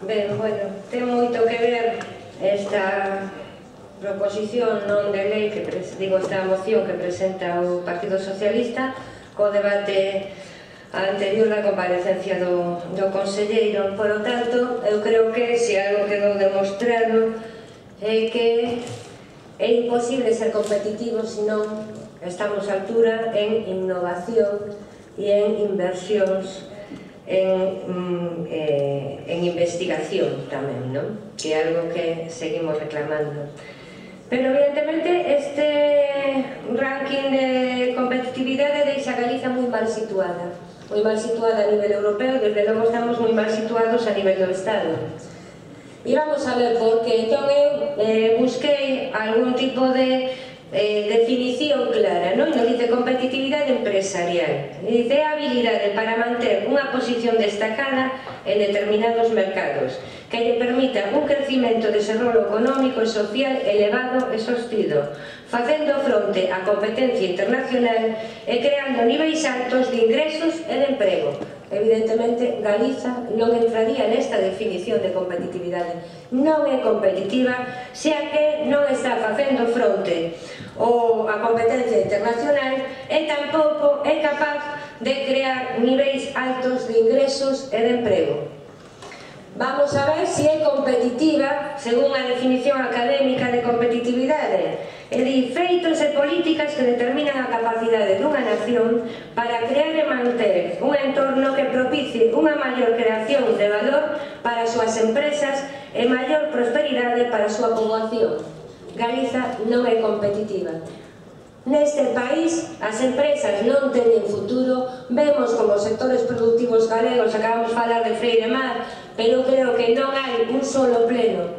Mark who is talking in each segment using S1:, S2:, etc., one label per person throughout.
S1: Ben, bueno, ten moito que ver esta proposición non de lei, esta moción que presenta o Partido Socialista co debate anterior da comparecencia do conselleiro. Por lo tanto, eu creo que se algo quedou demostrado é que é imposible ser competitivo se non estamos á altura en innovación e en inversións en investigación tamén, non? Que é algo que seguimos reclamando. Pero evidentemente este ranking de competitividade deixa a Galiza moi mal situada a nivel europeo, desde logo estamos moi mal situados a nivel do Estado. E vamos a ver por que. Entón eu busquei algún tipo de definición clara, non? Nos dice competitividade empresarial, dice habilidade para manter unha posición destacada en determinados mercados que lle permita un crecimento de desenvolvemento económico e social elevado e sostido, facendo fronte á competencia internacional e creando niveis altos de ingresos e de emprego. Evidentemente, Galiza non entraría nesta definición de competitividade. Non é competitiva, xa que non está facendo fronte a competencia internacional e tampouco é capaz de crear niveis altos de ingresos e de emprego. Vamos a ver se é competitiva según a definición académica de competitividade. É dicir, feitos e políticas que determinan a capacidade dunha nación para crear e manter un entorno que propicie unha maior creación de valor para as súas empresas e maior prosperidade para a súa poboación. Galiza non é competitiva. Neste país as empresas non teñen futuro. Vemos como os sectores productivos galegos, acabamos de falar de Freire Mar, pero creo que non hai un solo pleno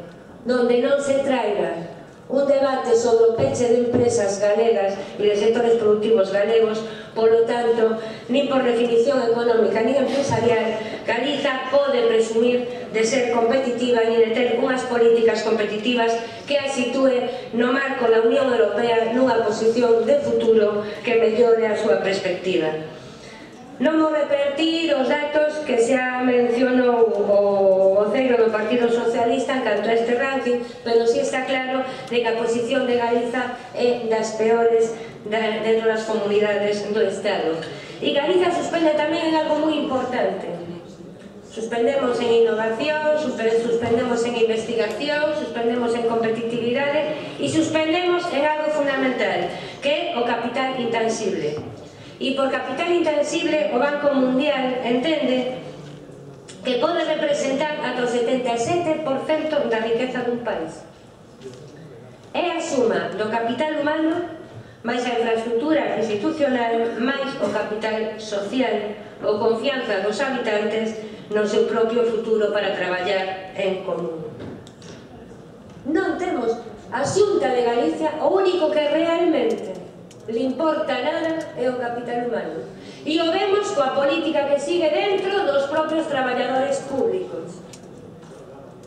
S1: donde non se traiga un debate sobre o peche de empresas galegas e de sectores productivos galegos. Polo tanto, nin por definición económica nin empresarial, Galiza pode presumir de ser competitiva nin de ter unhas políticas competitivas que a sitúe no marco da Unión Europea nunha posición de futuro que mellore a súa perspectiva. Non vou repetir os datos que xa mencionou o voceiro do Partido Socialista en canto a este ranking, pero si está claro de que a posición de Galiza é das peores dentro das comunidades do Estado. E Galiza suspende tamén en algo moi importante. Suspendemos en innovación, suspendemos en investigación, suspendemos en competitividade e suspendemos en algo fundamental, que é o capital intangible. E por capital intangible o Banco Mundial entende que pode representar ata o 77% da riqueza dun país. É a suma do capital humano máis a infraestructura institucional máis o capital social ou confianza dos habitantes no seu propio futuro para traballar en común. Non temos a Xunta de Galicia, o único que realmente le importa nada é o capital humano. E o vemos coa política que sigue dentro dos propios traballadores públicos,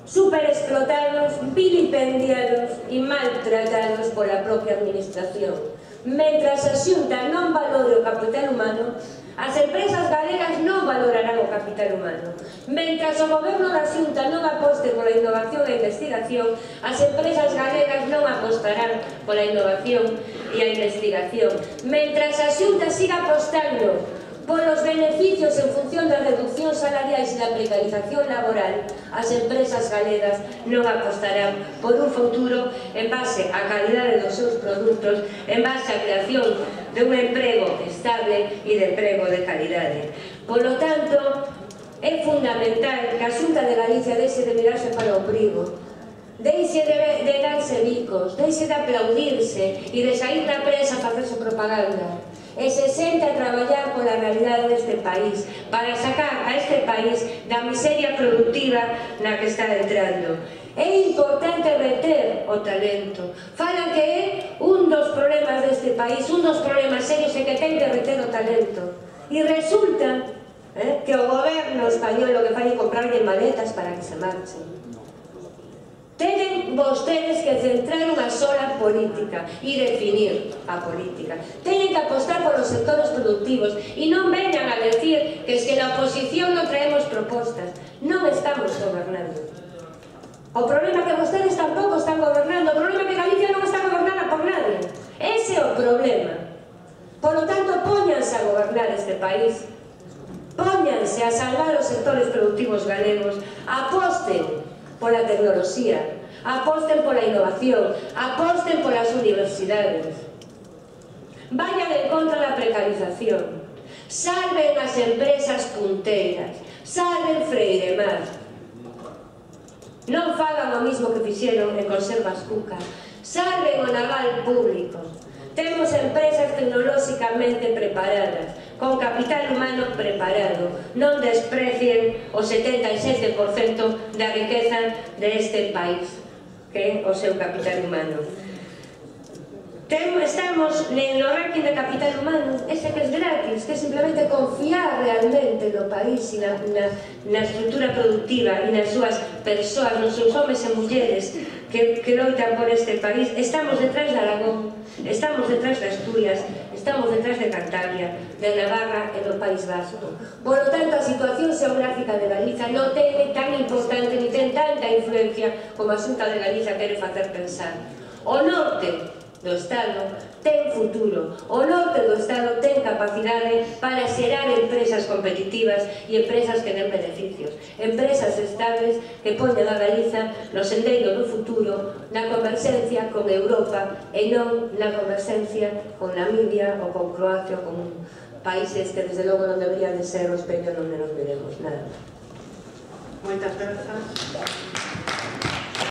S1: superexplotados, vilipendiados e maltratados pola propia administración. Mentras a Xunta non valore o capital humano, as empresas galegas non valorarán o capital humano. Mentras o goberno da Xunta non aposte pola innovación e investigación, as empresas galegas non apostarán pola innovación e a investigación. Mentras a Xunta siga apostando polos beneficios en función das reduccións salariais e da precarización laboral, as empresas galegas non apostarán por un futuro en base á calidade dos seus produtos, en base á creación de un emprego estable e de emprego de calidade. Polo tanto, é fundamental que a Xunta de Galicia deixe de mirarse para o ombligo, deixe de darse bicos, deixe de aplaudirse e de sair da prensa a facerse propaganda, e se sente a traballar pola realidade deste país, para sacar a este país da miseria productiva na que está entrando. É importante reter o talento. Falan que é un dos problemas deste país, un dos problemas serios é que ten que reter o talento. E resulta que o goberno español o que fai é comprarlle maletas para que se marchen. Teñen vostedes que centrar unha sola política e definir a política. Teñen que apostar polos sectores productivos e non veñan a decir que es que na oposición non traemos propostas. Non estamos gobernando. O problema é que vostedes tampouco están gobernando, o problema é que Galicia non está gobernada por nadie. Ese é o problema. Por lo tanto, póñanse a gobernar este país, póñanse a salvar os sectores productivos galegos, aposten pola tecnoloxía, aposten pola innovación, aposten polas universidades, vayan en contra da precarización, salven as empresas punteiras, salven Freiremar. Non fagan o mismo que fixeron en Conservas Cuca, salven o naval público. Temos empresas tecnolóxicamente preparadas, con capital humano preparado. Non desprecien o 77% da riqueza deste país, que é o seu capital humano. Estamos no ranking de capital humano, ese que é gratis, que é simplemente confiar realmente no país e na estrutura productiva e nas súas persoas, nos seus homes e mulleres que loitan por este país. Estamos detrás de Aragón, estamos detrás de Asturias, estamos detrás de Cantabria, de Navarra e do País Vasco. Por lo tanto, a situación xeográfica de Galiza non ten tan importante ni ten tanta influencia como a Xunta de Galiza quere facer pensar. O norte do Estado ten futuro, o norte do Estado ten capacidade para xerar empresas competitivas e empresas que den beneficios, empresas estables que poñan a Galiza no sendeiro do futuro, na converxencia con Europa e non na converxencia con Namibia ou con Croacia ou con países que desde logo non deberían de ser o espello onde nos veremos. Nada.
S2: Moitas grazas.